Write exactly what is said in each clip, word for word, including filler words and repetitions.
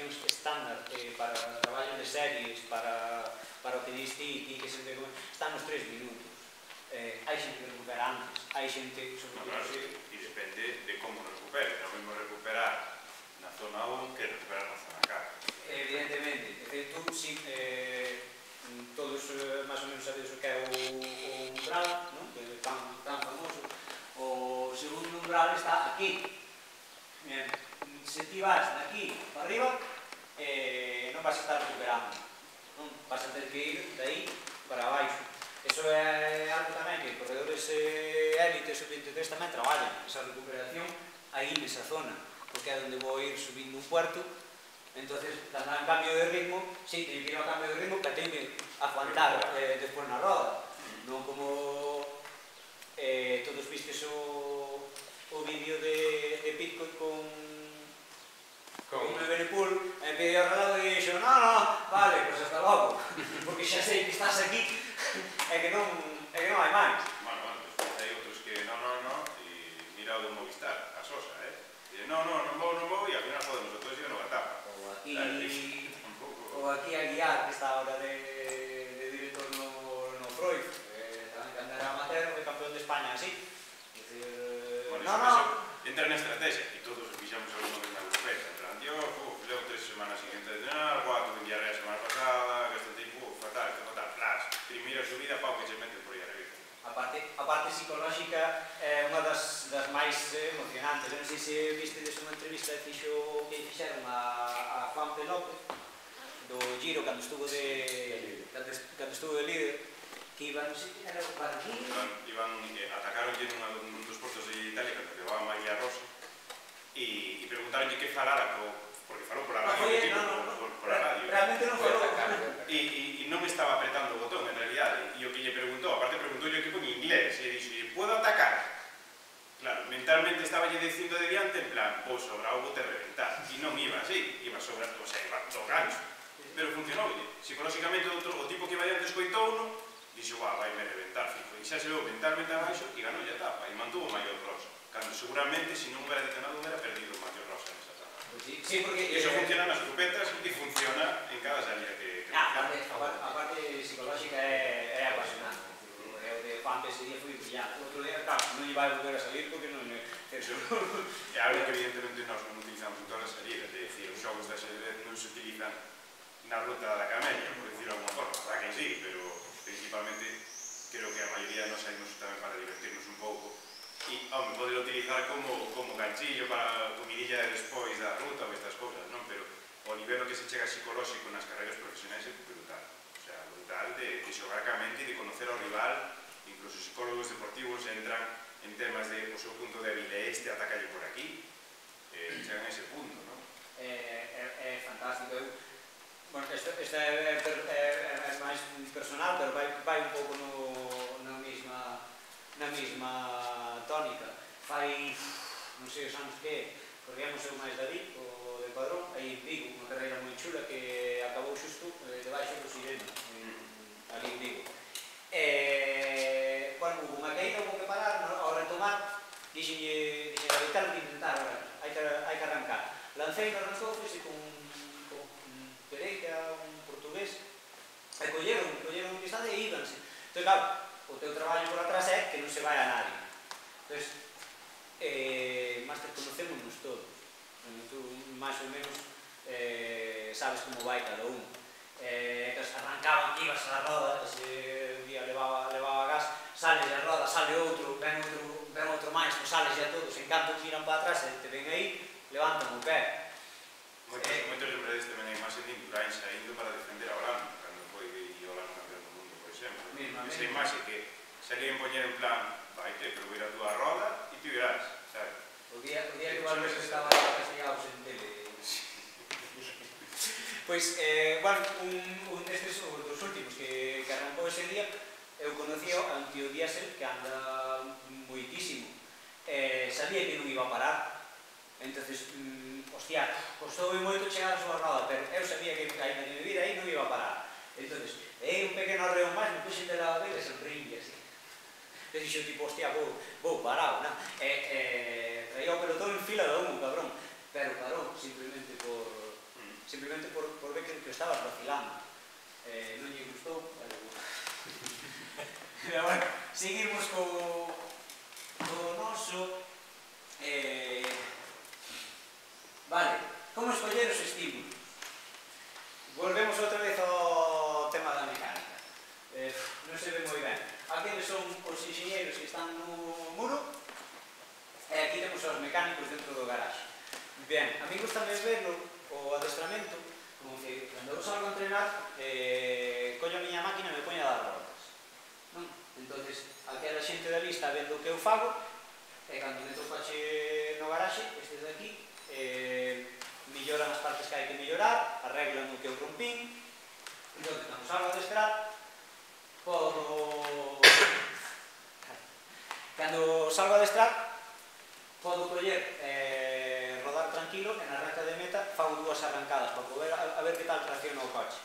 condicións estándar para traballo de series, para o que dis ti, ti que sempre están nos tres minutos. Hai xente que recupera antes, hai xente, sobre todo... E depende de como recupere, non mesmo recuperar na zona un que recuperar na zona catro. Evidentemente, tú, si, todos máis ou menos sabedes o que é o umbral, tan famoso. O segundo umbral está aquí. Se ti vas de aquí para arriba, non vas a estar recuperando. Vas a ter que ir de aí para abaixo. Iso é algo tamén que corredores élites ou veintitrés tamén traballan, esa recuperación aí nesa zona, porque é onde vou ir subindo un puerto. Entonces, dando un cambio de ritmo, sí, teño que ir ao cambio de ritmo, pero teño que aguantar despois na roda. Non como todos vistes o vídeo de Pitcock con un Evenepoel, me pediu o relado e dixo, no, no, vale, pois hasta logo, porque xa sei que estás aquí e que non hai máis. Bueno, bueno, pois hai outros que no, no, no, e mira o do Movistar, a Sosa, eh? Dicen, no, no, non vou, non vou, e ao final podemos, outros siguen no etapa. Ou aquí a guiar, que está ahora de director no Freud, tamén cando era amateur, foi campeón de España así. No, no. Entra na estrategia, e todos fixamos alguna vez na europea, en plan, yo, levo tres semanas sin entrenar, cuatro en diarrea a semana pasada, gasto tempo, fatal, fatal, flash, primeira subida, pau que se mete por aí arriba. A parte psicolóxica é unha das máis emocionantes. Non sei se vistedes unha entrevista que fixeron a Juan P. López do Giro, cando estuvo de líder, que iban, non sei, era o Barguil... Atacaronlle nun dos portos de Italia, cando levaba María Rosa, e preguntaronlle que falara, porque falou por a radio, por a radio. Realmente non falou. E non estaba apretando o botón, en realidad, e o que lle preguntou, aparte preguntoulle o equipo en inglés, e dixo, ¿puedo atacar? Claro, mentalmente estaba lle dicindo de diante, en plan, vou sobrar o bote reventar, e non iba así, iba sobrar, o sea, iba do gancho, pero funcionoulle. Psicolóxicamente, o tipo que iba diante escoitouno, dixo, va, vai me reventar, fijo, e xa se veu mentalmente abaixo e ganou a etapa, e mantuvo o maior rosa, cando seguramente, se non hubiera detonado, hubiera perdido o maior rosa nesa etapa. Sí, porque... E iso funciona nas grupetas e funciona en cada salida que... A parte psicolóxica é apasionante. O de Juan P. ese día foi brillante. Outro día, claro, non iba a volver a salir porque non é... É algo que evidentemente nós non utilizamos en todas as salidas, é dicir, os xogos de ajedrez non se utilizan na ruta da camelia, por dicirlo de alguma forma, para que sí, pero principalmente creo que a maioría nos saímos tamén para divertirnos un pouco e, home, poder utilizar como ganchillo para comidilla de despois da ruta ou estas cousas, non? Pero o nivel que se chega psicolóxico nas carreiras profesionais é brutal, o sea, brutal de xogar ca mente e de conocer ao rival, incluso psicólogos deportivos entran en temas de o seu punto débil é este, atacalle por aquí, chegan a ese punto, non? É fantástico. Bueno, esta é máis personal, pero vai un pouco na mesma tónica. Fai, non sei os anos que, corríamos eu máis David, o de Padrón, aí en Vigo, unha carreira moi chula que acabou xusto debaixo do Sirena, ali en Vigo. Bueno, hubo unha caída, hubo que parar, ao retomar, dixenlle, David, tal que intentar, hai que arrancar. Lancei no arrancou, fixe con Pereira, un portugués, e colleron, colleron un distancia e íbanse. Entón, claro, o teu traballo por atrás é que non se vai a nadie. Entón, máster, conocémonos todos. Tú, máis ou menos, sabes como vai cada un. Entón, arrancaban, ibas a roda, ese día levaba gas, sales a roda, sale outro, ven outro máis, sales a todos, en canto miran para atrás e te ven aí, levantan o pé. Moitos lembrades tamén a imaxe de Indurain saindo para defender a Holanda, cando foi de Holanda campeón do mundo, por exemplo. Esa imaxe que se queren poñer en plan, vaite, pero vira a túa roda e ti virás, sabes? O día que o Alberto estaba castigados en tele. Pois, bueno, un destes dos últimos que arrancou ese día, eu conocía a un tío diésel que anda moitísimo. Sabía que non iba a parar. Entonces, hostia, costoume moito chegar a súa roda, pero eu sabía que ainda que me vira aí non iba a parar. Entonces, é un pequeno arreo máis, me puxen de la vela e sonreí así. E dixo, tipo, hostia, vou parado, non? Traía o pelotón en fila de humo, cabrón. Pero parou, simplemente por simplemente por, por ver que, que estabas vacilando. Eh, non lle gustou, pero... pero bueno, seguimos co, co noso... Eh, vale, como escoller os estímulos? Volvemos outra vez ao tema da mecánica. Eh, non se ve moi ben. Aqueles son os enxeñeiros que están no muro, e aquí temos os mecánicos dentro do garaxe. Ben, a mí gustame verlo, o adestramento, como que cando eu salgo a entrenar, eh, collo a miña máquina e me poño a dar voltas. Non? Entonces, aquela xente da lista vendo o que eu fago, e cando meto o coche no garaxe, este de aquí, eh, melloran as partes que hai que mellorar, arreglan o que eu rompín, entón, cando salgo a adestrar, podo... Cando salgo a adestrar, podo coller, eh, rodar tranquilo, e na recta de meta fago dúas arrancadas para poder a, a ver que tal tracciona o coche.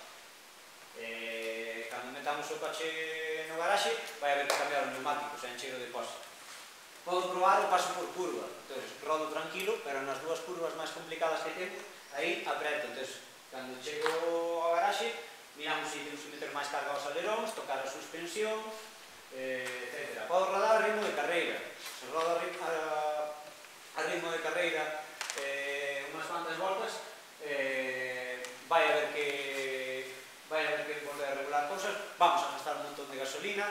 Eh, cando metamos o coche no garaxe, vai haber que cambiar os neumáticos, é encheiro de pos. Podo probar o paso por curva, entón, rodo tranquilo, pero nas dúas curvas máis complicadas que temos, aí apreto, entón, cando chego ao garaxe, miramos se temos que meter máis carga aos aleróns, tocar a suspensión, eh, etcétera. Podo rodar a ritmo de carreira, se rodo a ritmo, a, a ritmo de carreira eh, unhas cuantas voltas, eh, vai haber que vai haber que volver a regular cousas, vamos a gastar un montón de gasolina,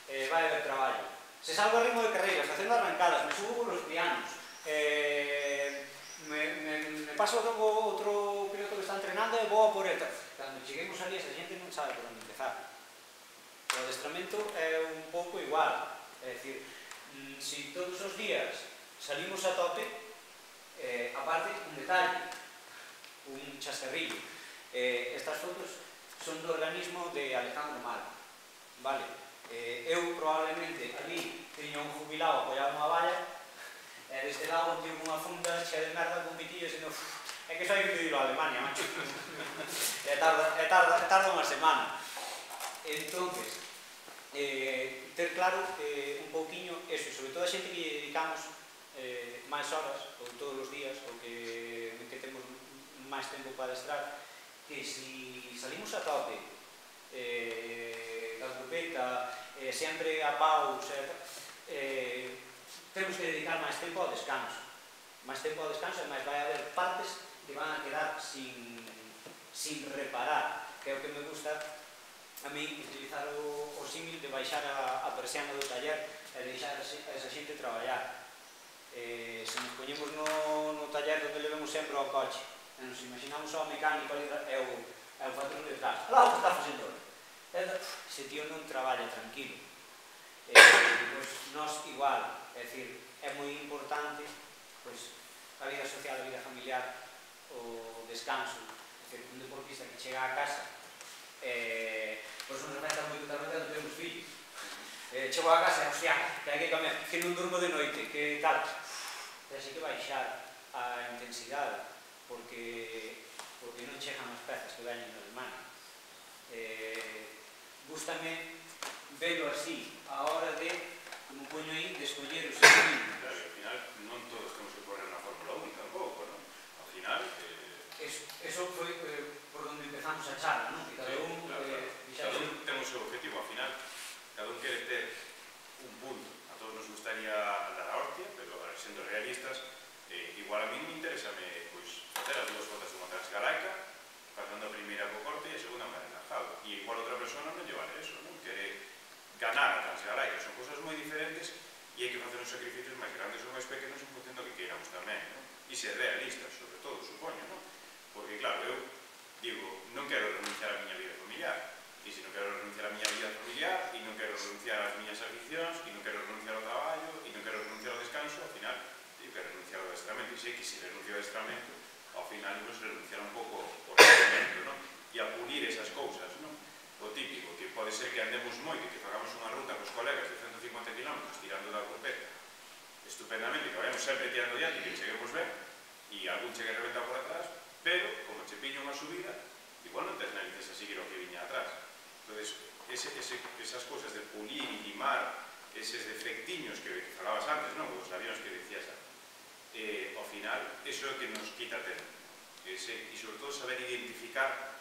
eh, vai haber traballo. Se salgo a ritmo de carreira, facendo arrancadas, me subo por os pianos, eh, me, me, me paso o outro piloto que está entrenando e vou a por ele. Cando cheguemos ali, esa xente non sabe por onde empezar. O adestramento é un pouco igual, é dicir, se todos os días salimos a tope, eh, aparte, un detalle, un chascarrillo, eh, estas fotos son do organismo de Alejandro Mal, vale? Eh, eu probablemente ali teño un jubilado apoiado nunha valla e deste lado un tío cunha funda chea de merda con pitillos e no... É que só hai que pedirlo a Alemania, macho. E tarda, e tarda, tarda unha semana. Entonces, eh, ter claro eh, un pouquiño eso, sobre todo a xente que lle dedicamos eh, máis horas, ou todos os días, ou que, que temos máis tempo para adestrar, que si salimos a tope, eh, da grupeta, eh, sempre a paus, eh, temos que dedicar máis tempo ao descanso. Máis tempo ao descanso e máis vai haber partes que van a quedar sin, sin reparar, que é o que me gusta a mí utilizar o, o símil de baixar a, a persiana do taller e deixar a esa xente traballar. Eh, se nos poñemos no, no taller onde le vemos sempre ao coche, e nos imaginamos ao mecánico ali e o, e o patrón detrás, alá o que está facendo hoy. Ese tío non traballa tranquilo. Eh, pues, nós igual, é dicir, é moi importante pues, a vida social, a vida familiar, o descanso. É dicir, un deportista que chega a casa eh, pois non remeta moito tamén cando temos fillos. Eh, chego a casa e, hostia, que hai que comer, que non durmo de noite, que tal. Tens que baixar a intensidade, porque, porque non chegan as pezas que veñen na Alemania. Eh, gústame velo así, a hora de, como poño aí, de escoller os estímulos. Claro, e ao final non todos temos que poner na Fórmula uno tampouco, non? Ao final... Eh... Eso, eso foi eh, por onde empezamos a charla, non? Que cada sí, un... Claro, eh, claro. Cada un temos o seu objetivo, ao final, cada un quere ter un punto. A todos nos gustaría andar a hostia, pero sendo realistas, eh, igual a mí me interesa me, pois, facer as dúas voltas dunha transgalaica, facendo a primeira co corte e a segunda máis relajado. E igual outra persona non lle vale eso, non? Quere ganar a transgalaica, son cosas moi diferentes e hai que facer uns sacrificios máis grandes ou máis pequenos en función do que queiramos tamén, non? E ser realistas, sobre todo, supoño, non? Porque, claro, eu digo, non quero renunciar á miña vida familiar, e se non quero renunciar á miña vida familiar, e non quero renunciar ás miñas aficións, e non quero renunciar ao traballo, e non quero renunciar ao descanso, ao final, digo que renunciar ao adestramento, e sei que se renuncio ao adestramento, ao final, non se renunciar un pouco ao adestramento, non? E a pulir esas cousas, non? O típico, que pode ser que andemos moito, que fagamos unha ruta cos colegas de ciento cincuenta kilómetros tirando da grupeta, estupendamente, que vayamos sempre tirando diante, que cheguemos ben, e algún chegue reventado por atrás, pero, como che piño unha subida, igual non tes narices a seguir o que viña atrás. Entón, ese, ese, esas cousas de pulir e limar, eses defectiños que, que falabas antes, non? Os avións que dicías, eh, ao final, eso é o que nos quita tempo. e sobre todo saber identificar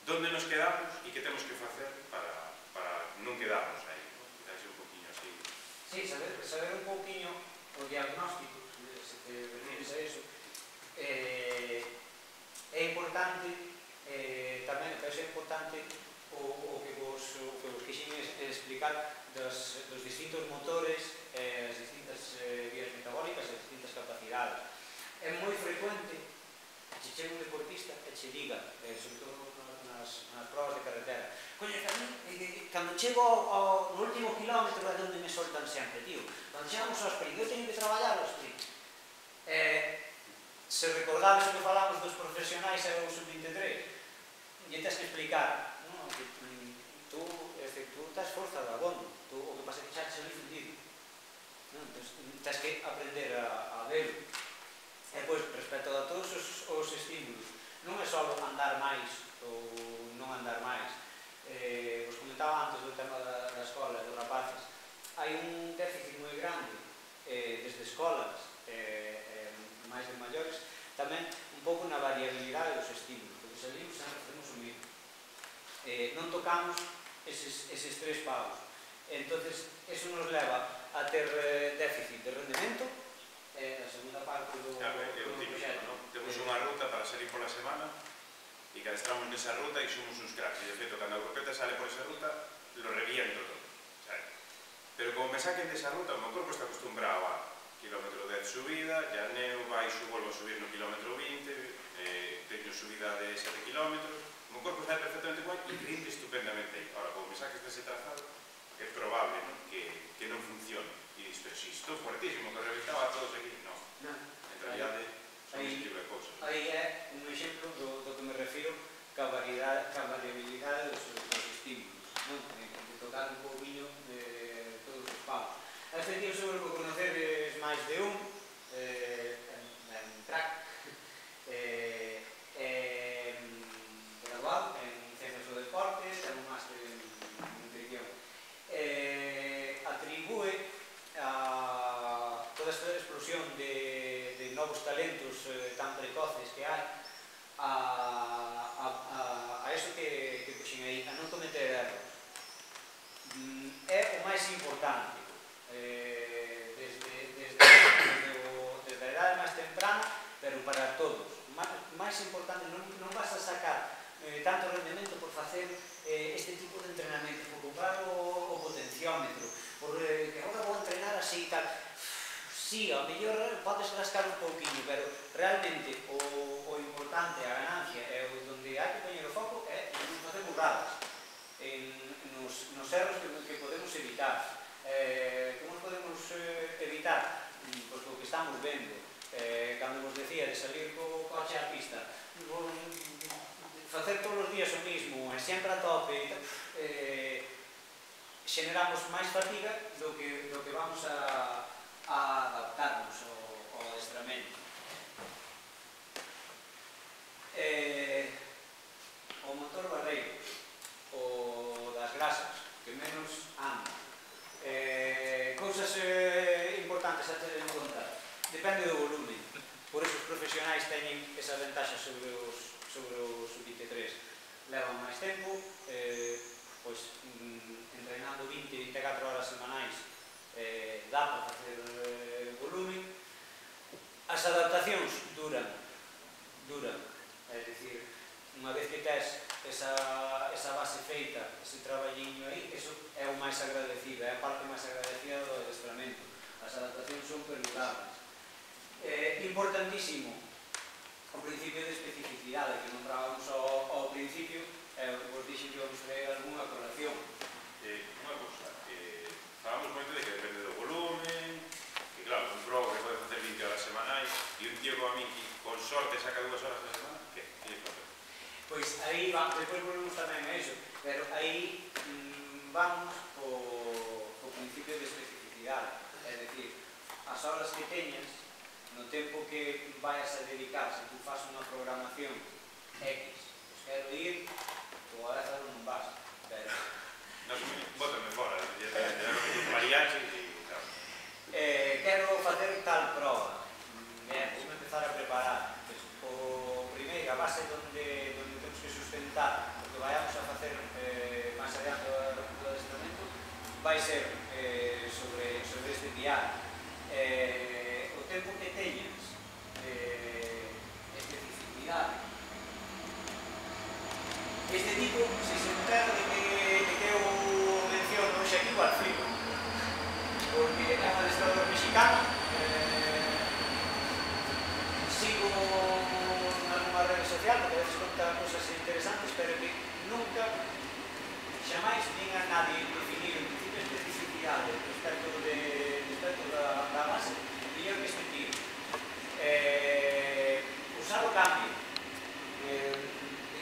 onde nos quedamos e que temos que facer para non quedarnos aí, quizás un poquinho así. Sí, saber un poquinho o diagnóstico, se te refieres a eso, é importante, tamén é importante o que vos quixen explicar dos distintos motores, as distintas vías metabólicas e as distintas capacidades. É moi frecuente que che chega un deportista e che diga, sobre todo nas provas de carretera, coño, cando chego no último kilómetro é onde me soltan sempre, tío, cando chegamos ao sprint, eu teño que traballar ao sprint. Se recordades o que falamos dos profesionais e o sub veintitrés, e tens que explicar, que tú estás forza de abondo, o que pasa é que xa te salí fundido. Tens que aprender a verlo. E, pois, respecto a todos os estímulos, non é só andar máis ou non andar máis. Vos comentaba antes do tema da escola, dos rapaces. Hai un déficit moi grande desde escolas, máis de maiores, tamén un pouco na variabilidade dos estímulos, porque salimos sempre facemos o mismo. Non tocamos eses tres paus. Entonces, eso nos leva a ter déficit de rendemento, a segunda parte do proxecto. Temos unha ruta para salir pola semana e que adestramos nesa ruta e somos uns cracks. E, de feito, cando a grupeta sale por esa ruta, lo reviento todo. Pero como me saquen desa ruta, o meu corpo está acostumbrado a kilómetro dez subida, ya neo, baixo, volvo a subir no kilómetro vinte, teño subida de sete kilómetros, o meu corpo está perfectamente igual e rinde estupendamente aí. Ahora, como me saques dese trazado, é probable que non funcione. E dices, pero si estou fuertísimo, que reventaba a todos aquí, non. En realidade, son ese tipo de cousas. Aí é un exemplo do que me refiro ca variabilidade dos estímulos, de tocar un pouquinho de todos os paus. A este tío seguro que conocedes máis de un, en track, graduado en Ciencias do Deporte, ten un máster en nutrición. Atribúe toda esta explosión de novos talentos tan precoces que hai a eso que puxen aí, a non cometer erros. É o máis importante. Desde a idade máis temprana, pero para todos. Máis importante, non vas a sacar tanto rendemento por facer este tipo de entrenamento, por comprar o potenciómetro, porque agora vou entrenar así e tal. Sí, ao mellor podes rascar un pouquinho, pero realmente o importante, a ganancia, é onde hai que poñer o foco é non facer burradas, nos erros que podemos evitar. Como podemos evitar? Pois o que estamos vendo, cando vos decía de salir co coche á pista, facer todos os días o mismo, sempre a tope, generamos máis fatiga do que vamos a adaptarnos ao adestramento. O motor barreiro, o das grasas, que menos anda. Cousas importantes a ter en conta, depende do volumen. Por eso os profesionais teñen esa ventaxa sobre os sub veintitrés. Levan máis tempo, entrenando vinte, vinte e catro horas semanais, dá para facer volumen. As adaptacións duran, duran, é dicir, unha vez que tes esa base feita, ese traballiño aí, eso é o máis agradecido, é a parte máis agradecida do adestramento. As adaptacións son perdurables. Importantísimo o principio de especificidade que nombrábamos ao principio, vos dixen que vamos traer algunha corrección. Unha cousa, falamos moito de que depende do volumen, que claro, un pro que pode facer vinte horas semanais, e un tío como a mí que con sorte saca dúas horas a semana, que? Pois aí vamos, depois volvemos tamén a iso, pero aí vamos co principio de especificidade, é dicir, as horas que teñas, no tempo que vayas a dedicar, se tú faz unha programación X, pois quero ir, ou a veces non vas, pero... Non, bótame fora, mariachi e tal. Quero facer tal prova, vamos empezar a preparar. O primeiro, a base donde temos que sustentar o que vayamos a facer máis adiante do adestramento vai ser sobre este piar. O tempo que teñas especificidade. Este tipo, se se perde que eu menciono hoxe aquí, igual flipo, porque é un adestrador mexicano, sigo nalgúna rede social, porque a veces conta cosas interesantes, pero que nunca, xamais, nin a nadie definir un tipo de especificidade respecto da base, mellor que este tío. Usar o cambio.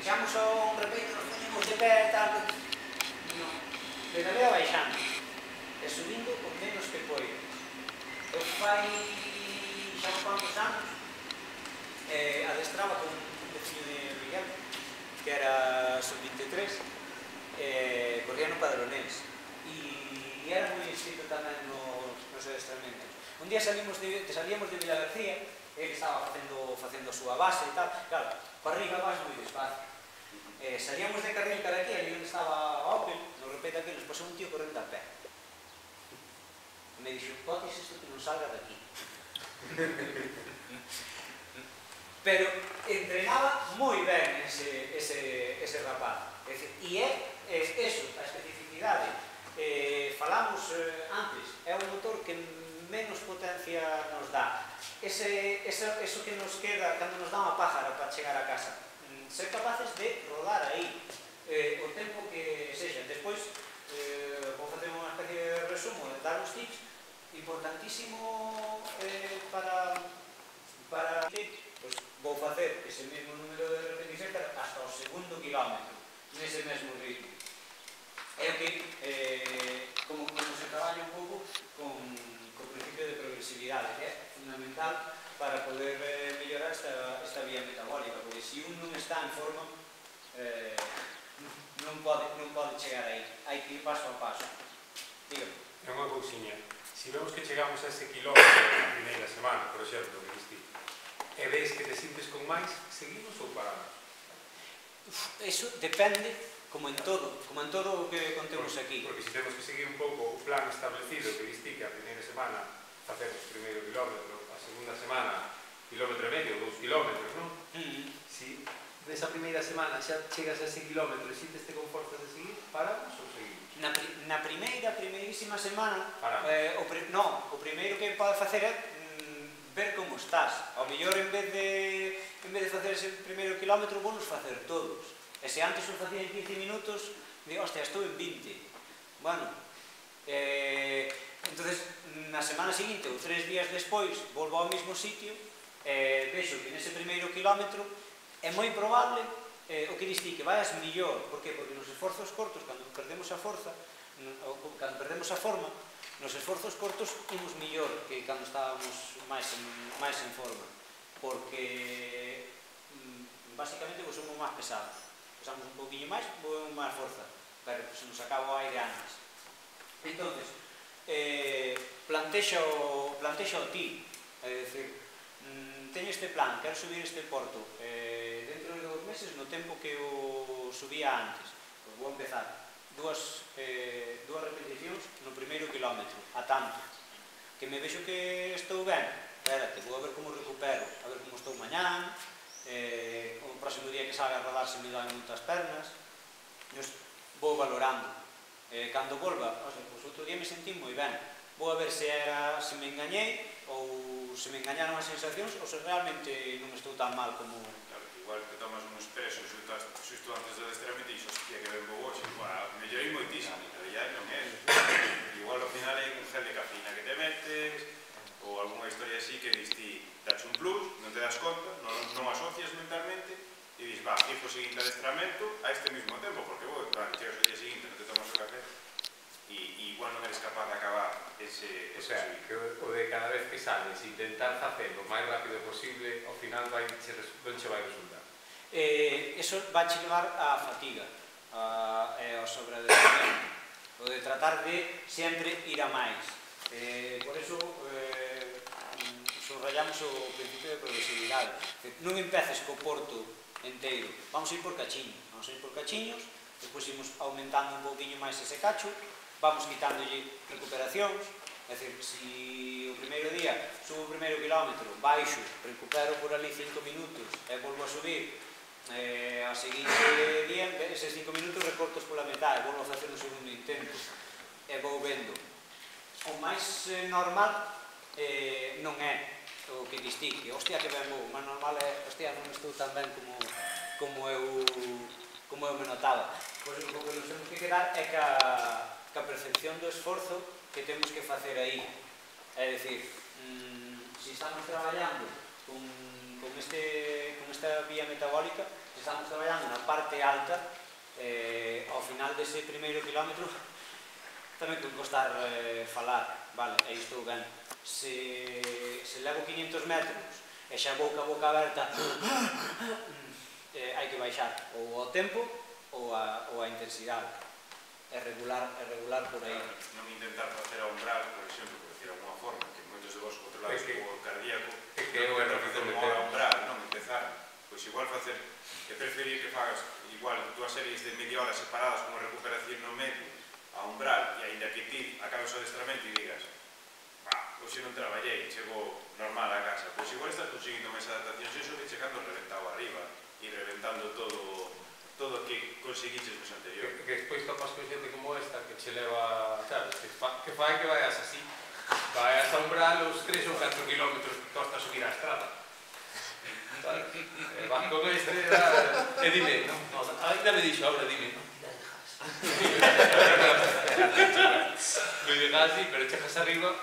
Deixamos un repeito, nos ponemos de pé, tal, non. Pedalea baixando e subindo o menos que poides. Eu fai xa uns cuantos anos adestraba con un veciño de Miguel, que era sub vinte e tres, corría no Padronés e era moi inscrito tamén nos adestramentos. Un día salíamos de Vila García, ele estaba facendo a súa base e tal, claro, para arriba vas moi despacio. Salíamos de carril cara aquí, ali onde estaba a Opel, no repete aquí, nos pasou un tío correndo a pé. Me dixo, podes isto que non salga daqui. Pero entrenaba moi ben ese rapaz. E é eso, a especificidade. Falamos antes, é un motor que menos potencia nos dá. Eso que nos queda cando nos dá unha pájara para chegar a casa. Ser capaces de rodar aí o tempo que sexa. Despois, vou facer unha especie de resumo, dar uns tips importantísimo para vou facer ese mesmo número de repeticións hasta o segundo kilómetro, nese mesmo ritmo. É o que, como se traballa un pouco con o principio de progresividade, que é fundamental para poder mellorar esta vía metabólica, porque se un non está en forma non pode chegar aí, hai que ir paso a paso. Dígame. É unha cousiña, se vemos que chegamos a ese kilómetro na primeira semana, por exemplo, e ves que te sintes con máis, seguimos ou paramos? Eso depende, como en todo, como en todo o que contemos aquí. Porque se temos que seguir un pouco o plan establecido que diste que a primeira semana facemos o primeiro kilómetro, a segunda semana kilómetro e medio, dous kilómetros, non? Si nesa primeira semana xa chegas a ese kilómetro e sinteste con forzas de seguir, paramos ou seguimos? Na primeira, primeirísima semana, non, o primeiro que pode facer é ver como estás. Ao mellor, en vez de en vez de facer ese primeiro kilómetro, vou nos facer todos. E se antes o facía en quince minutos, digo, hostia, estou en vinte. Bueno, entonces, na semana seguinte, ou tres días despois, volvo ao mesmo sitio, e vexo que nese primeiro kilómetro é moi probable o que diste que vayas millor. Por que? Porque nos esforzos cortos, cando perdemos a forza, cando perdemos a forma, nos esforzos cortos imos millor que cando estábamos máis en forma, porque basicamente somos máis pesados, pesamos un poquinho máis, movemos máis forza, pero se nos acaba o aire antes. Entonces, plantexa o ti, é dicir, teño este plan, quero subir este porto, dentro de dos meses, no tempo que o subía antes, pois vou empezar dúas repeticións no primeiro kilómetro, a tanto, que me vexo que estou ben, espérate, vou a ver como recupero, a ver como estou mañán, o próximo día que salga a rodar se me dan moitas pernas, vou valorando. Cando volva, pois outro día me sentí moi ben, vou a ver se me engañei ou se me engañaron as sensacións ou se realmente non estou tan mal como... Igual que tomas un expreso xusto antes do adestramento e dixo, hostia, que ben vou hoxe, mellorei moitísimo, en realidad non é. Igual ao final hai un gel de cafeína que te metes, ou algunha historia así que diste, dache un plus, non te das conta, non asocias mentalmente, e dis, va, fijo o seguinte adestramento a este mismo tempo, porque vos, chegas o día seguinte, non te tomas o café, e igual non eres capaz de acabar ese subir. O sea, que o de cada vez que sales, intentar facer o máis rápido posible, ao final non che vai resultar. Eso vai che levar á fatiga, ao sobreadestramento, o de tratar de sempre ir a máis. Por eso subrayamos o principio de progresividade. Non empeces co porto enteiro. Vamos a ir por cachiños, vamos a ir por cachiños, despois imos aumentando un pouquinho máis ese cacho, vamos quitándolle recuperacións, é dicir, se o primeiro día subo o primeiro kilómetro, baixo, recupero por ali cinco minutos e volvo a subir, eh, a seguinte día, eses cinco minutos recortos pola metade, volvo a facer un segundo intento e vou vendo. O máis eh, normal eh, non é o que distingue, hostia que ben vou, o máis normal é, hostia, non estou tan ben como, como eu como eu me notaba. Pois o que nos temos que quedar é ca, ca percepción do esforzo que temos que facer aí. É dicir, mmm, se estamos traballando con, con, este, con esta vía metabólica, se estamos traballando na parte alta, eh, ao final dese primeiro kilómetro tamén que costar eh, falar, vale, aí estou ben. Se, se levo quinientos metros e xa vou ca boca aberta, eh, hai que baixar ou ao tempo ou a, ou a intensidade. É regular, é regular por aí. Non intentar facer a umbral, por exemplo, por decir alguna forma, que moitos de vos controlados o cardíaco, é que eu era facer unha hora umbral, non empezar, pois igual facer, que preferir que fagas igual dúas series de media hora separadas con unha recuperación no medio, a umbral, e ainda que ti acabes o adestramento e digas, bah, hoxe non traballei, chego normal a casa, pois igual estás conseguindo máis adaptacións, e iso que chegando reventado arriba, e reventando todo todo o que conseguiches nos anteriores. Que, que despois topas con xente como esta que che leva, sabes, que, fa, que fai que vayas así, vayas a umbral os tres ou catro kilómetros que costa subir a estrada. Sabes? E vas con este, e dime, no, no, ainda me dixo, ahora dime, no, mira, dejas. Me dejas así, pero chegas arriba,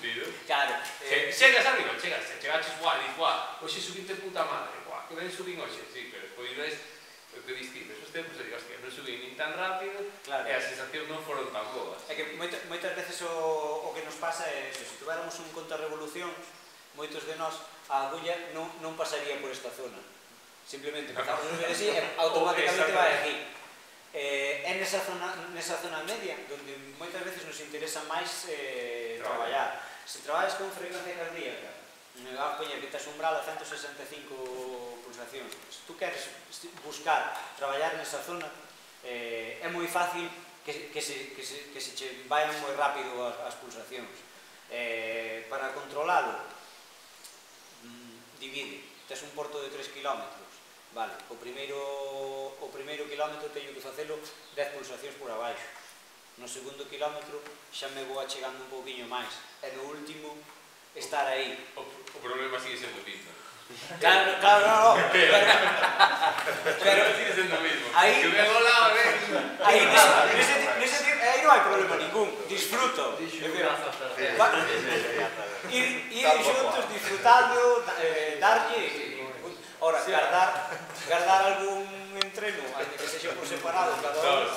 tío. Claro. Eh, chegas arriba, chegas, chegaches, guau, dis, guau, hoxe subinte puta madre, guau, que ben subín hoxe, sí, pero despois ves o que distinto, esos tempos, e digo, hostia, non subín nin tan rápido, claro, e as sensacións non foron tan boas. É que moitas, moitas veces o, o que nos pasa é eso, se tuviéramos un contrarrevolución, moitos de nós, a agulla non, non pasaría por esta zona. Simplemente empezamos a subir así e automáticamente vai aquí. Eh, é nesa zona, nesa zona media onde moitas veces nos interesa máis eh, traballar. Se traballas con frecuencia cardíaca, me va a poñer que tes umbral a ciento sesenta e cinco pulsacións. Se tú queres buscar traballar nesa zona, eh, é moi fácil que, que, se, que, se, que se che vayan moi rápido as, as pulsacións. Eh, para controlalo, mmm, divide. Tes un porto de tres kilómetros. Vale, o primeiro, o primeiro kilómetro teño que facelo dez pulsacións por abaixo. No segundo kilómetro xa me vou achegando un pouquiño máis. E no último, estar aí. O, o problema sigue sendo o mismo. Claro, claro, no, no. Pero, pero sigue sendo o mismo. Aí, que vengo lá, ven. Aí, nese, nese, nese, aí non hai problema ningún. Disfruto. Ir, ir xuntos, disfrutando, eh, darlle. Ora, guardar, guardar algún entreno, aunque que sexa por separado, cada un,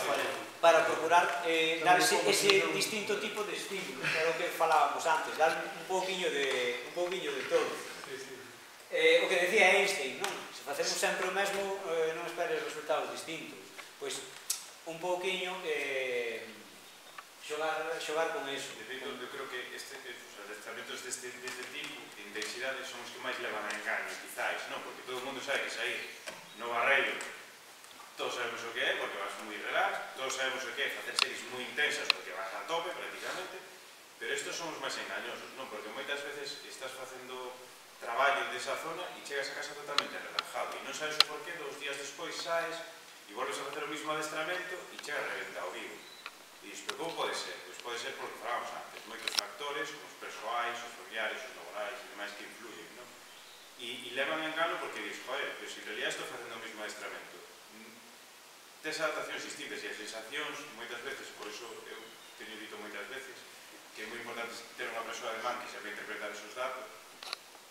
para procurar eh, dar ese, ese distinto tipo de estímulo, que era o que falábamos antes, dar un pouquiño de, un pouquiño de todo. Eh, o que decía Einstein, non? Se facemos sempre o mesmo, eh, non esperes resultados distintos. Pois, un pouquiño eh, xogar, xogar con eso. De feito, eu creo que este, os adestramentos deste, deste tipo de intensidade son os que máis levan a engaño, quizáis, non? Porque todo o mundo sabe que sair no barreiro, todos sabemos o que é, porque vas moi relax, todos sabemos o que é facer series moi intensas, porque vas a tope, prácticamente, pero estos son os máis engañosos, non? Porque moitas veces estás facendo traballo desa zona e chegas a casa totalmente relajado e non sabes o porqué, dos días despois saes e volves a facer o mismo adestramento e chegas reventado vivo. E isto, como pode ser? Pois pode ser porque falábamos antes, moitos factores, como os persoais, os familiares, os laborais e demais que influyen, non? E, e levan en engano porque dices, joder, pero se en realidad estou facendo o mismo adestramento. Tes adaptacións distintas e as sensacións, moitas veces, por iso eu teño dito moitas veces, que é moi importante ter unha persoa de man que sabe interpretar esos datos,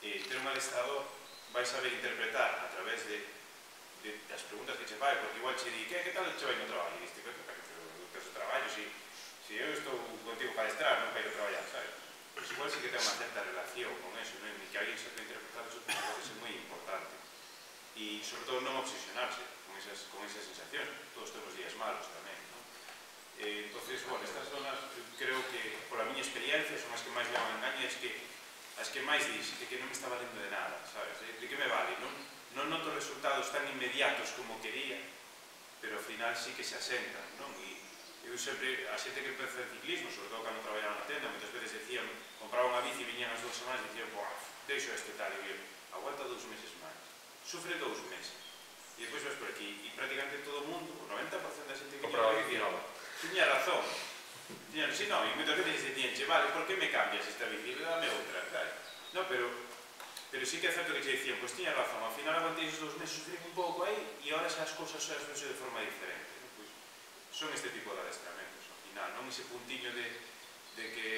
e ter un adestrador vai saber interpretar a través de, de das preguntas que che fai, porque igual che di, que, que tal che vai no traballo? E diste, pero que o traballo, si, si eu estou contigo para adestrar, non para ir a traballar, sabes? Pois igual sí que ten unha certa relación con eso, non? E que alguén sepa interpretar eso pode ser moi importante. E, sobre todo, non obsesionarse con esas, con esas sensacións. Todos temos días malos tamén, non? Eh, entonces, bueno, estas zonas, creo que, por a miña experiencia, son as que máis levan engaño, e as que, as que máis dis, que, que non me está valendo de nada, sabes? De que me vale? Non, non noto resultados tan inmediatos como quería, pero ao final sí que se asentan, non? E eu sempre, a xente que empeza en ciclismo, sobre todo cando traballaba na tenda, moitas veces decían, compraba unha bici e viñan as dúas semanas e dicían, boa, deixo este tal, e eu, aguanta dous meses máis, sufre dous meses, e depois vas por aquí, e prácticamente todo o mundo, o noventa por cento da xente que compraba lle dicía, tiña razón, tiña, si non, e moitas veces dicían, che, vale, por que me cambias esta bici? Dame outra, tal. Non, pero, pero sí que é certo que che dicían, pois tiña razón, ao final aguantei esos dous meses, sufrí un pouco aí, e ahora xa as cousas xa as vexo de forma diferente, non? Pois, son este tipo de adestramentos, ao final, non ese puntiño de, de que,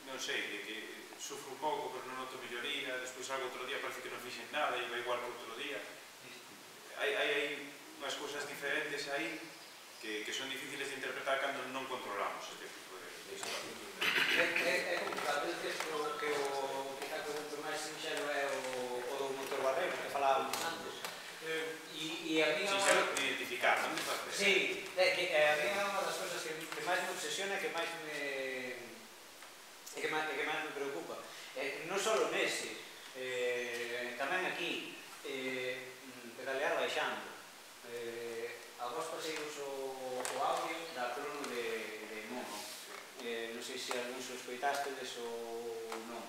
non sei, de que sufro un pouco, pero non noto melloría, despois algo outro día parece que non fixen nada, e vai igual que outro día. Hai, hai, hai unhas cousas diferentes aí que, que son difíciles de interpretar cando non controlamos este tipo de, de situación. É, é, é complicado, é que o que o que está con máis sinxelo é o, o do motor barrero, que falábamos antes. Eh, e, e a mí Sinxelo de identificar, non me facer? Sí, é que a mí é unha das cousas que, que máis me obsesiona, que máis me que máis, que máis me preocupa. Eh, non só nese, eh, tamén aquí, eh, pedalear baixando. Eh, a vos paseiros o, o audio da crono de, de Mono. Eh, non sei se algúns o escoitástedes ou non.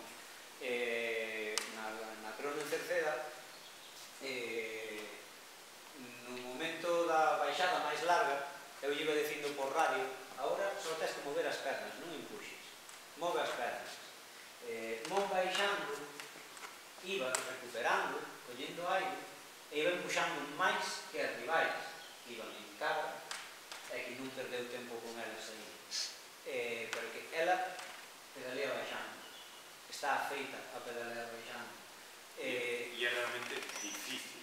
Eh, na, na crono en Cerceda, eh, no momento da baixada máis larga, eu iba dicindo por radio, agora só tens que mover as pernas, non empuxes. Move as pernas. Eh, non baixando, iba recuperando, collendo aire, e iba empuxando máis que as rivais. Iban en cara, e que non perdeu tempo con elas aí. Eh, porque ela pedalea baixando. Está feita a pedalear baixando. Eh, e é realmente difícil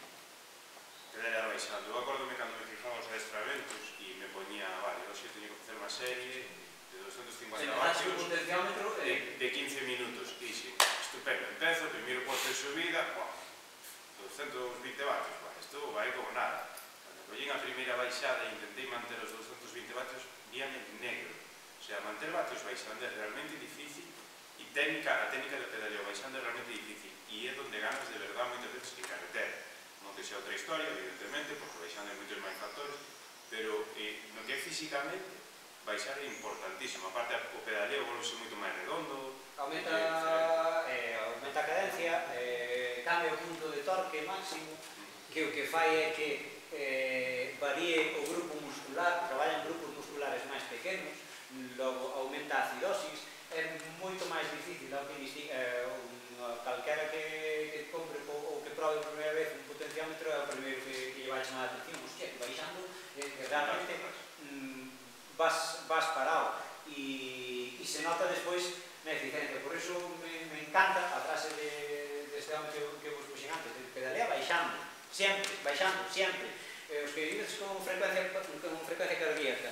pedalear baixando. Eu acordome cando me fijaba os adestramentos e me poñía, vale, hoxe teño que facer unha serie de doscientos cincuenta vatios de, de quince minutos. E xe, estupendo, empezo, primeiro posto de subida, wow, doscientos vinte vatios, bueno, isto vai como nada. Cando collín a primeira baixada e intentei manter os doscientos vinte vatios, víame negro. O sea, manter vatios baixando é realmente difícil e técnica, a técnica de pedaleo baixando é realmente difícil e é donde ganas de verdade moitas veces que carretera. Non que sea outra historia, evidentemente, porque baixando hai moitos máis factores, pero eh, no que é físicamente, baixar é importantísimo. Aparte, o pedaleo volve moito máis redondo. Aumenta, eh, aumenta a cadencia, eh, cambia o punto de torque máximo, que o que fai é que eh, varíe o grupo muscular, traballan grupos musculares máis pequenos, logo aumenta a acidosis, é moito máis difícil eh, calquera que, que compre ou que probe por primeira vez un potenciómetro é o primeiro que, que lle vai chamar a atención. Hostia, que baixando, eh, que realmente mm, vas, vas parado e, e se nota despois na eficiencia. Por iso me, me encanta a frase de, deste home que, que vos puxen antes, de pedalea baixando, sempre, baixando, sempre. Eh, os que vives con frecuencia, con frecuencia cardíaca,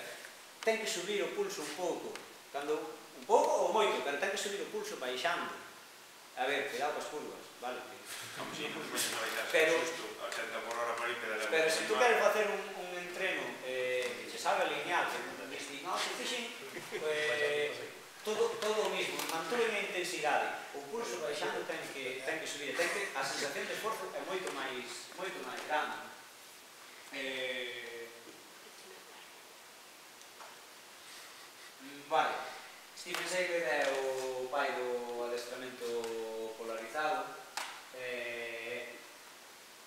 ten que subir o pulso un pouco, cando un pouco ou moito, pero ten que subir o pulso baixando. A ver, cuidado com as curvas, vale? Como si, non se baixas pero, xusto a ochenta por hora para ir pedaleando. Pero se tú queres facer un, un entreno eh, que se sabe alinear, que non te dices, no, se fixen eh, todo, todo o mismo, mantúen a intensidade, o pulso baixando ten que, ten que subir, ten que, a sensación de esforzo é moito máis, moito máis grande. Eh, vale, Stephen Seger é o pai do adestramento polarizado. Eh,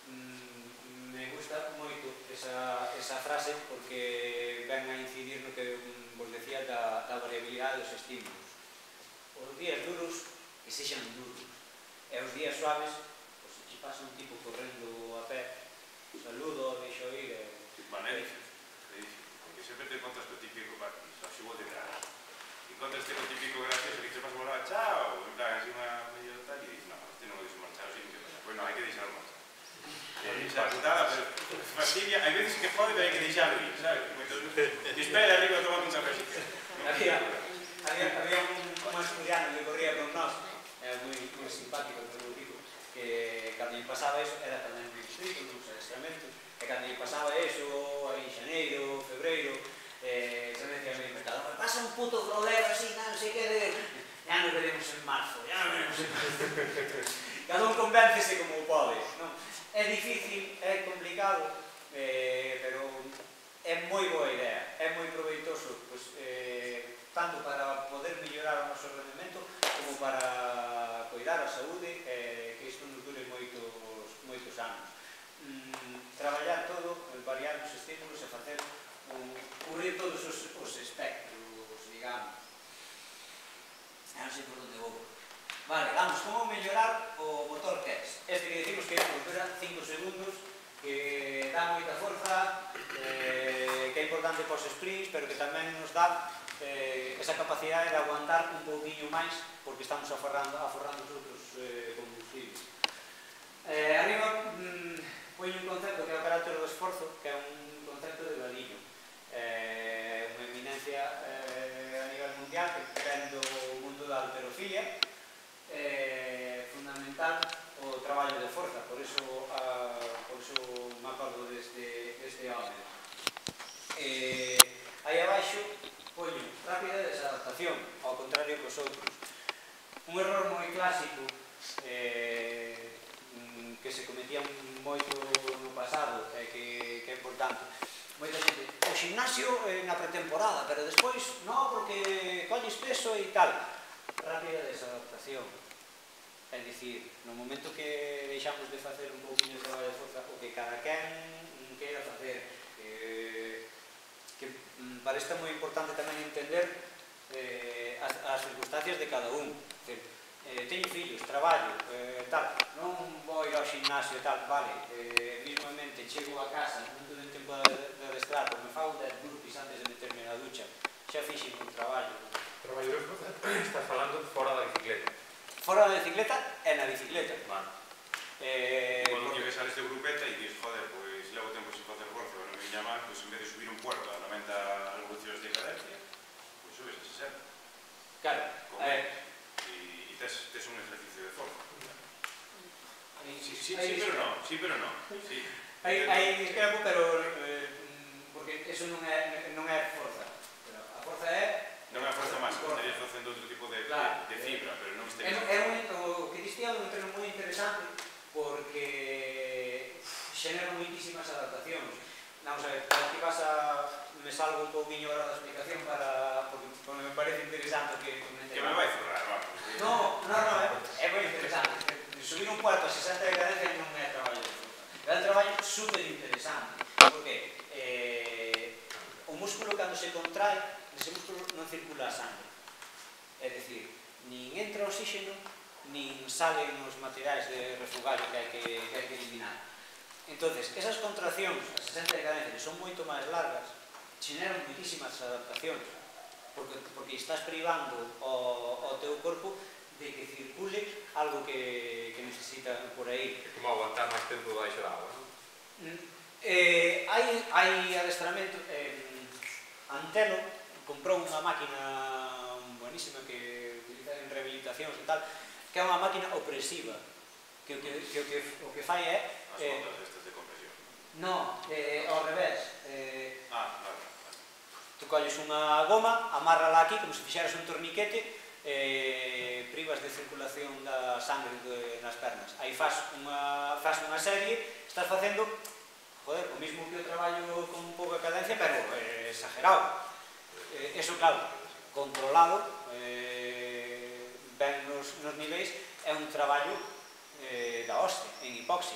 mm, me gusta moito esa, esa frase porque ven a incidir no que vos decía da, da variabilidade dos estímulos. Os días duros que sexan duros, e os días suaves, pois se che pasa un tipo correndo a pé, saludo, deixo ir e... Bueno, é difícil, é difícil, porque sempre te encontras co típico partido, así vou te traer. Encontras te co típico gracioso que te vas morar, chao, en plan, así unha medio tal, e dices, no, este non o deixo marchar, así que pasa. Pois non, hai que deixarlo marchar. Eh, xa putada, pero fastidia, hai veces que pode, pero hai que deixarlo ir, sabes? Que espera arriba tomando un cafecito. Había, había, había un, un asturiano que corría con nós, era moi, moi simpático, moi tipo, que cando lle pasaba eso, era tamén moi distrito, nos adestramentos, e cando lle pasaba eso, aí en xaneiro, febreiro, eh, se me decía moi inventado, me pasa un puto globero así, non sei que de... Ya nos veremos en marzo, ya nos veremos en marzo. Cada un convéncese como pode, non? É difícil, é complicado. complicado, eh, pero é moi boa idea, é moi proveitoso, pues, eh, tanto para poder mellorar o noso rendimento como para cuidar a saúde, eh, que isto nos dure moitos, moitos anos. Mm, traballar todo, variar os estímulos e facer un, cubrir todos os, os espectros, digamos. Non sei por onde vou. Vale, vamos, como mellorar o motor test? Este que decimos que dura cinco segundos, que dá moita forza, eh, que é importante para os sprints, pero que tamén nos dá eh, esa capacidade de aguantar un pouquinho máis, porque estamos aforrando, aforrando os outros eh, combustibles. Eh, arriba, mmm, poño un concepto que é o carácter do esforzo, que é un concepto de Vadillo. Eh, unha eminencia eh, a nivel mundial que ven do mundo da halterofilia, eh, fundamental o traballo de forza, por iso uh, por iso me acordo deste, deste home. Eh, aí abaixo poño rápida desadaptación, ao contrario que os outros. Un error moi clásico eh, que se cometía moito no pasado e que, que é importante. Moita xente, o gimnasio eh, na pretemporada, pero despois, no, porque colles peso e tal. Rápida desadaptación. É dicir, no momento que deixamos de facer un pouquinho de traballo de forza, o que cada quen queira facer, que, que para isto é moi importante tamén entender eh, as, as circunstancias de cada un. Decir, eh, teño fillos, traballo, eh, tal, non vou ir ao gimnasio e tal, vale, eh, mismamente chego a casa, non teño tempo de, de adestrar, porque me fago dez burpees antes de meterme na ducha, xa fixen un traballo. Traballo de forza, estás falando fora da bicicleta. Fora da bicicleta e na bicicleta. Vale. Eh, Cuando llegues a este grupeta e dices, joder, pois levo tempo sin facer forza, non me viña mal, pois en vez de subir un puerto a noventa revolucións de cadencia, pois subes a sesenta. Claro. Eh, e tes, tes un ejercicio de forza. Aí, Sí, sí, aí, sí, pero no, sí, pero no. Sí. Aí, aí discrepo, pero eh, porque eso non é, non é forza. Pero a forza é... Non é a forza máis, estarías facendo outro tipo de, claro, de, de fibra, pero non É, estarías... é un, o que diste é un entreno moi interesante porque xenera moitísimas adaptacións. Vamos a ver, aquí vas a... me salgo un pouquinho ahora da explicación para... porque, porque me parece interesante que comente. Que me vai zurrar, vamos. No, no, no, é, é moi interesante. Subir un cuarto a sesenta de cadencia non é traballo de forza. É un traballo super interesante. Porque eh, o músculo cando se contrae, ese músculo non circula a sangre. É dicir, nin entra oxígeno, nin salen os materiais de refugallo que hai que, que, hai que eliminar. Entonces, esas contraccións a sesenta de cadencia, que son moito máis largas, xeneran moitísimas adaptacións, porque, porque estás privando o, o teu corpo de que circule algo que, que necesita por aí. É como aguantar máis tempo baixo da agua, non? Eh, hai, hai adestramento, eh, Antelo comprou unha máquina buenísima que utiliza en rehabilitacións e tal, que é unha máquina opresiva, que o que, que, o que, o que fai é... As Eh, ondas estas de compresión. no, eh, ao revés. Eh, Ah, vale, vale. tú colles unha goma, amárrala aquí como se fixeras un torniquete, eh, privas de circulación da sangre de, nas pernas. Aí faz unha, faz unha serie, estás facendo, joder, o mismo que o traballo con pouca cadencia, pero eh, exagerado. Eh, eso, claro, controlado, eh, ben nos, nos niveis, é un traballo eh, da hostia, en hipoxia,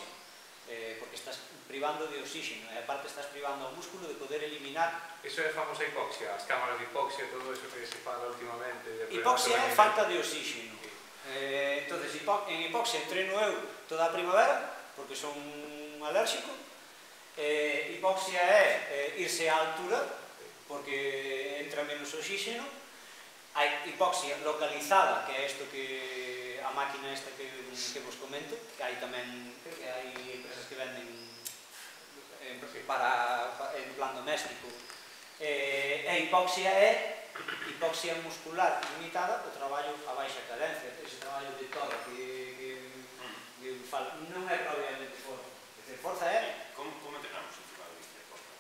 eh, porque estás privando de oxígeno e aparte estás privando ao músculo de poder eliminar. Iso é a famosa hipoxia, as cámaras de hipoxia, todo eso que se fala últimamente. Hipoxia é falta de oxígeno. Eh, entonces, hipo en hipoxia entreno eu toda a primavera, porque son alérxico. Eh, hipoxia é eh, irse á altura, porque entra menos oxígeno. Hai hipoxia localizada, que é isto que a máquina esta que, que vos comento, que hai tamén, creo que hai empresas que venden en, para, para, en plan doméstico. Eh, e hipoxia é hipoxia muscular limitada, o traballo a baixa cadencia, ese traballo de todo que, que, que falo, non é propiamente forza. É forza é... Como, como entrenamos encima da bici de forza?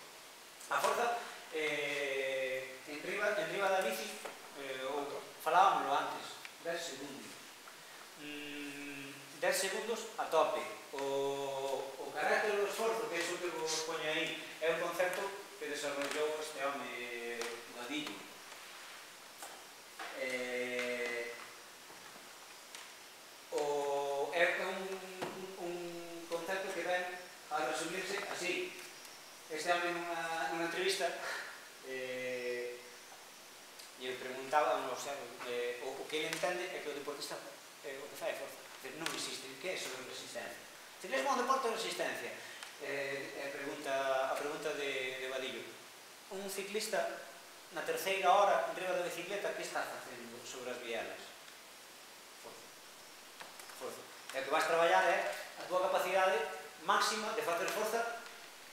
A forza, eh, en riba, en riba da bici, eh, ou, falábamoslo antes, dez segundos. Mm, dez segundos a tope. O, o carácter do esforzo, que é o que vos resumirse así. Este home nunha, nunha entrevista eh, e eu preguntaba, o, sea, eh, o, o que ele entende é que o deportista eh, o que fai é forza. Dice, non existe, que é sobre resistencia? Ciclismo é un deporte de resistencia. Eh, a pregunta, a pregunta de, de Vadillo. Un ciclista na terceira hora enriba da bicicleta, que está facendo sobre as bielas? Forza. Forza. E o que vais traballar é a tua capacidade máxima de facer forza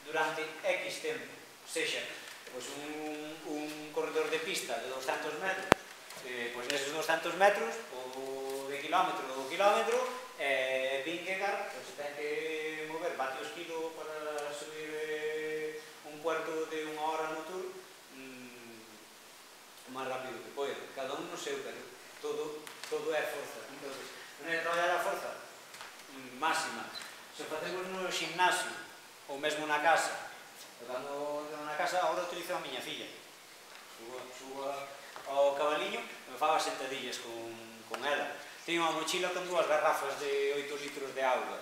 durante X tempo. O sexa, pois un, un corredor de pista de doscentos metros, eh, pois neses doscentos metros, o de kilómetro ou kilómetro, eh, Vingegaard pois, ten que mover vatios kilo para subir eh, un cuarto de unha hora no tour mm, o máis rápido que pode. Cada un no seu, pero todo, todo é forza. Entón, non é traballar a forza mm, máxima. Se facemos no gimnasio ou mesmo na casa, cando na casa agora utilizo a miña filla, subo, subo ao cabaliño e me fago as sentadillas con, con ela. Teño unha mochila con dúas garrafas de oito litros de auga.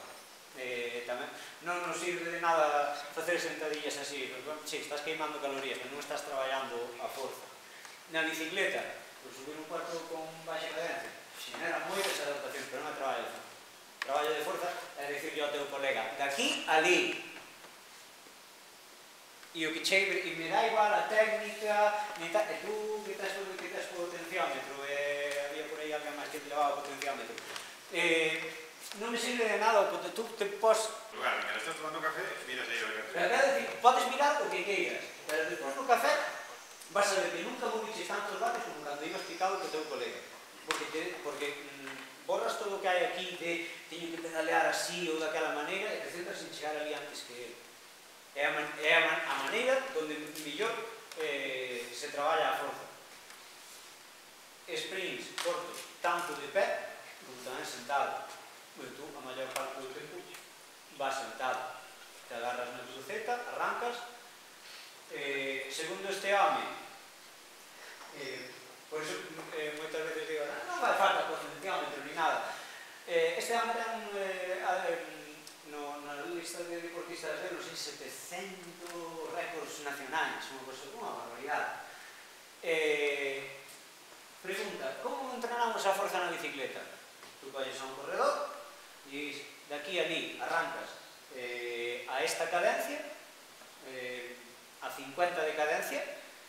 Eh, tamén non nos sirve de nada facer sentadillas así, porque, sí, estás queimando calorías, pero non estás traballando a forza. Na bicicleta, por subir un cuarto con baixa cadencia, xenera moitas adaptacións, pero non é traballo de forza. Traballo de forza é dicirle ao teu colega, daqui ali. E o que che, e me dá igual a técnica, e tú que estás por potenciómetro, e había por aí alguén máis que te levaba o potenciómetro. Eh, non me sirve de nada, porque tú te pos... Claro, que estás tomando café, miras aí o café. Pero quero dicir, podes mirar o que queiras, pero despois no café vas a ver que nunca moviches tantos vatios como cando ibas picado co teu colega. Porque, te, porque mm, borras todo o que hai aquí de teño que pedalear así ou daquela maneira e te centras en chegar ali antes que ele. É a, man, é a, man, a maneira onde mellor eh, se traballa a forza. Sprints cortos, tanto de pé como tamén sentado. Pois tú, a maior parte do tempo, vas sentado. Te agarras na cruceta, arrancas. Eh, segundo este home, eh, por iso eh, moitas veces digo, non vai falta potenciómetro ni nada. Eh, este home ten eh, no, na lista de deportistas de non sei, setecentos récords nacionais, unha cosa, unha barbaridade. Eh, pregunta, como entrenamos a forza na bicicleta? Tú colles a un corredor e dis, daqui a ali arrancas eh, a esta cadencia, eh, a cincuenta de cadencia,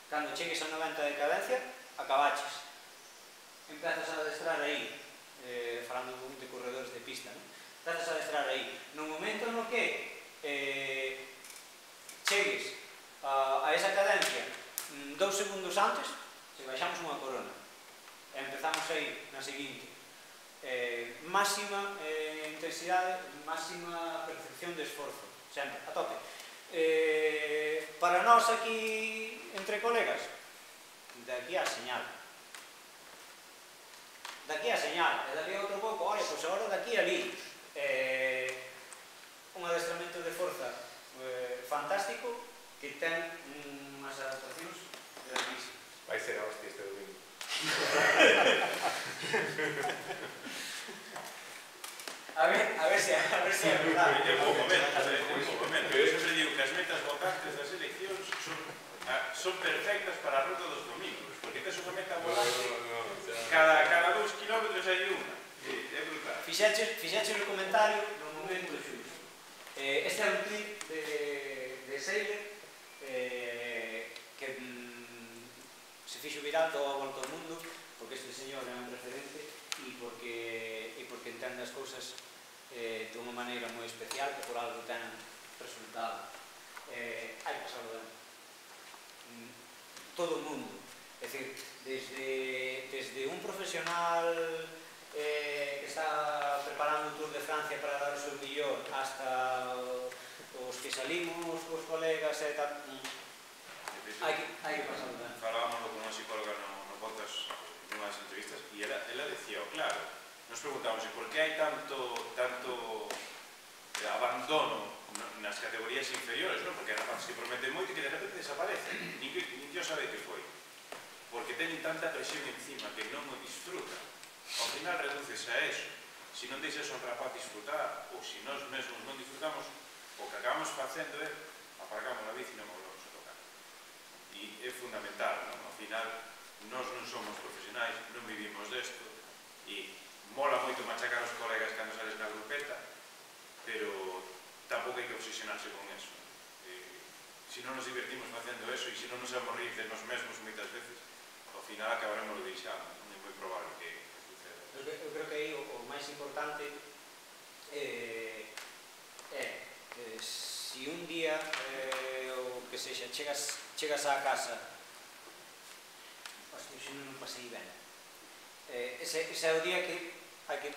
cando chegues a noventa de cadencia, acabaches. Empezas a adestrar aí, eh, falando de corredores de pista, non? Empezas a adestrar aí. No momento no que eh, chegues a, a esa cadencia mm, dous segundos antes, se baixamos unha corona. E empezamos aí na seguinte. Eh, máxima eh, intensidade, máxima percepción de esforzo. Sempre, a tope. Eh, para nós aquí, entre colegas, de aquí a señal. De aquí a señal. E daqui a outro pouco, olha, pois agora de aquí a ali. Eh, un adestramento de forza eh, fantástico que ten unhas adaptacións grandísimas. Vai ser a hostia este domingo. A ver, a ver se a ver se é verdade. É un pouco menos, é un pouco menos. Eu sempre digo que as metas votantes das eleccións son, son perfectas para a ruta dos domingos, porque tes unha meta volante, cada, cada dous kilómetros hai unha. É brutal. Fixaches, fixaches o comentario no momento xusto. Eh, este é un clip de, de Seiler eh, que mm, se fixo viral toda a volta ao mundo porque este señor é un referente e porque, e porque entende as cousas eh, de unha maneira moi especial que por algo ten resultado. Eh, hai que pasarlo ben. Mm, todo o mundo. É dicir, desde, desde un profesional eh, que está preparando o Tour de Francia para dar o seu millón hasta os que salimos cos colegas e tal, hai que, hai que pasarlo ben. Falábamos con unha psicóloga no, no podcast nunhas entrevistas e ela, ela decía, oh, claro, nos preguntamos por que hai tanto, tanto eh, abandono nas categorías inferiores, non? Porque rapaz se prometen moito e que de repente desaparece, nin que nin Dios sabe que foi, porque teñen tanta presión encima que non o disfrutan. Ao final reduces a eso. Se non deixas ao rapaz disfrutar, ou se nós mesmos non disfrutamos, o o que acabamos facendo é aparcamos a bici e non volvemos a tocar. E é fundamental, non? Ao final, nós non somos profesionais, non vivimos desto, e mola moito machacar os colegas cando sales na grupeta, pero tampouco hai que obsesionarse con eso. Se non nos divertimos facendo eso e se non nos vamos rir de nos mesmos moitas veces, ao final acabaremos lo deixando, non é moi probable que suceda. Eu creo que aí o máis importante é se un día o que sexa, chegas á casa, hostia, se non pasei ben, ese é o día que hai que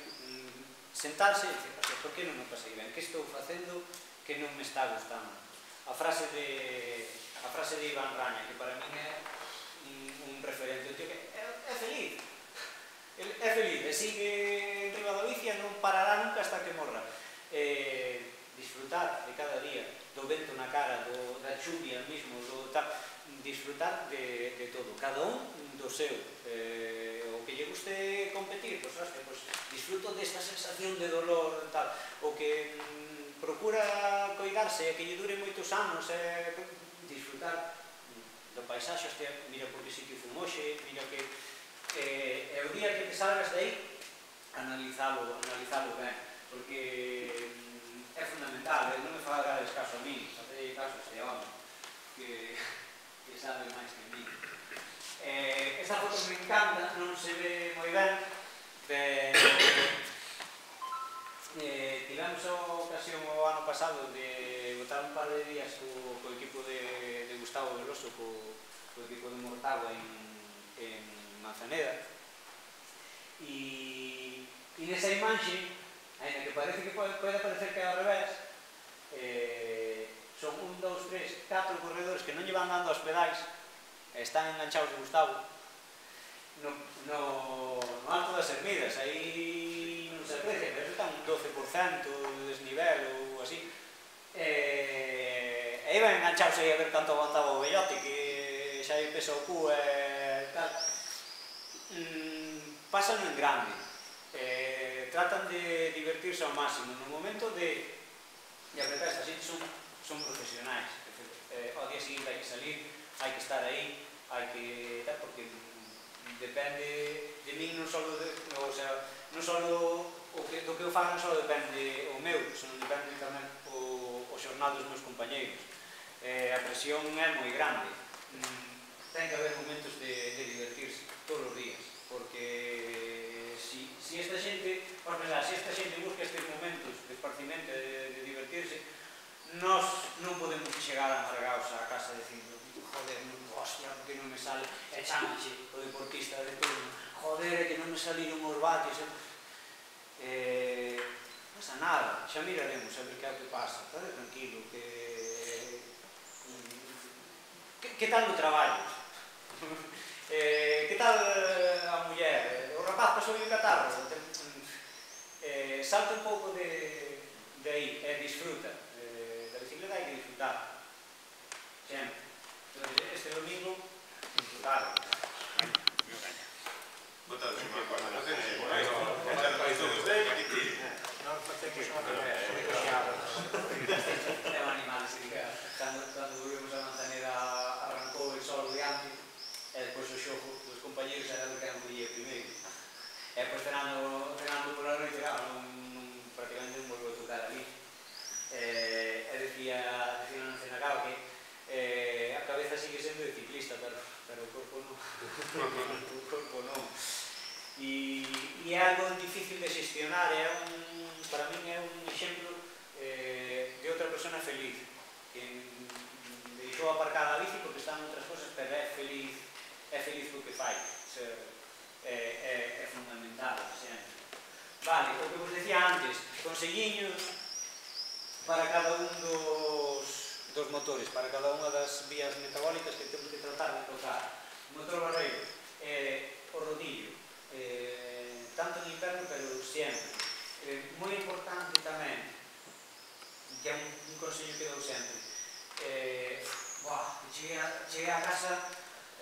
sentarse e dicir, por que non me pasei ben? Que estou facendo que non me está gustando? A frase de a frase de Iván Raña, que para min é un referente, o tío que é feliz, é feliz, e sigue enriba da bici e non parará nunca hasta que morra. Disfrutar de cada día, do vento na cara, da chuvia mesmo, disfrutar de todo, cada un do seu. O que lle guste competir, pois, hostia, disfruto desta sensación de dolor, o que procura coidarse e que lle dure moitos anos, disfrutar do paisaxe, hostia, mira por que sitio fun hoxe, mira que é o día que te salgas de aí, analizalo ben, porque é fundamental, non me fagades caso a mí, facei caso a este home, que sabe máis que a mí. Esta foto me encanta, non se ve moi ben, pero tivemos a ocasión o ano pasado de botar un par de días co equipo de Gustavo Veloso, co equipo de Mortágua en Manzaneda, e nesa imaxe, ainda que parece que pode parecer que é ao revés, son un, dous, tres, catro corredores que non lle van dando aos pedais, están enganchados de Gustavo no alto das Ermidas, aí non se aprecia, pero están un doce por cento de desnivel ou así, e iban enganchados aí a ver canto aguantaba o vellote, que xa lle pesa o cu e tal. Pasan en grande, tratan de divertirse ao máximo. No momento de apretar esta xente son profesionais. Ao día seguinte hai que salir, hai que estar aí, hai que... porque depende de min non só do que eu fago, non só depende o meu, senón depende tamén o xornal dos meus compañeiros. A presión é moi grande. Ten que haber momentos de divertirse todos os días, porque se esta xente, por pensar, se esta xente busca estes momentos de esparcimento e de divertirse, nós non podemos chegar amargados á casa dicindo, joder, hostia, que non me sale, e chamache o deportista de turno, joder, que non me saliron os vatios, non pasa nada, xa miraremos a ver que é o que pasa, está tranquilo, que que tal o traballo? Que tal a muller? O rapaz pasou o catarro? Salta un pouco de aí e disfruta. Da bicicleta hai que disfrutar. Sempre. Este domingo, disfrutar. Botado en unha cuarta. Non tenes por aí. Echar para isto dos dez e ti. Non facemos unha coxada. É un animal, así que cando volvemos a Manzaneda arrancou el sol diante e depois o xogo dos compañeros era do que non podía primeiro. E depois cenando pola noite, prácticamente non volveu a tocar ali. E decía non cena claro que a cabeza sigue sendo de ciclista, pero o corpo non. O corpo non. E é algo difícil de xestionar, para min é un exemplo de outra persona feliz, que deixou aparcada a bici porque está en outras cosas, pero é feliz é feliz co que fai, é fundamental sempre. Vale, o que vos decía antes, conselliños para cada un dos motores, para cada unha das vías metabólicas que temos que tratar de tocar. O motor barreiro, o rodillo, tanto en inverno, pero sempre. Moi importante tamén, que é un consello que dou sempre, cheguei a casa,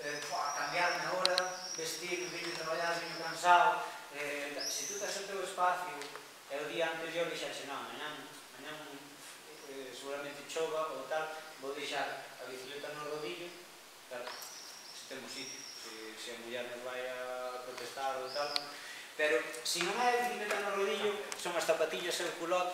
cambiarme agora, vestir, vine a traballar, vine cansado, se tú tens o teu espacio e o día anterior dixaxe, non, mañán seguramente chova ou tal, vou deixar a bicicleta no rodillo, claro, se temos sitio, se, se a muller nos vai a protestar ou tal, pero se non é a bicicleta no rodillo, son as zapatillas e o culot,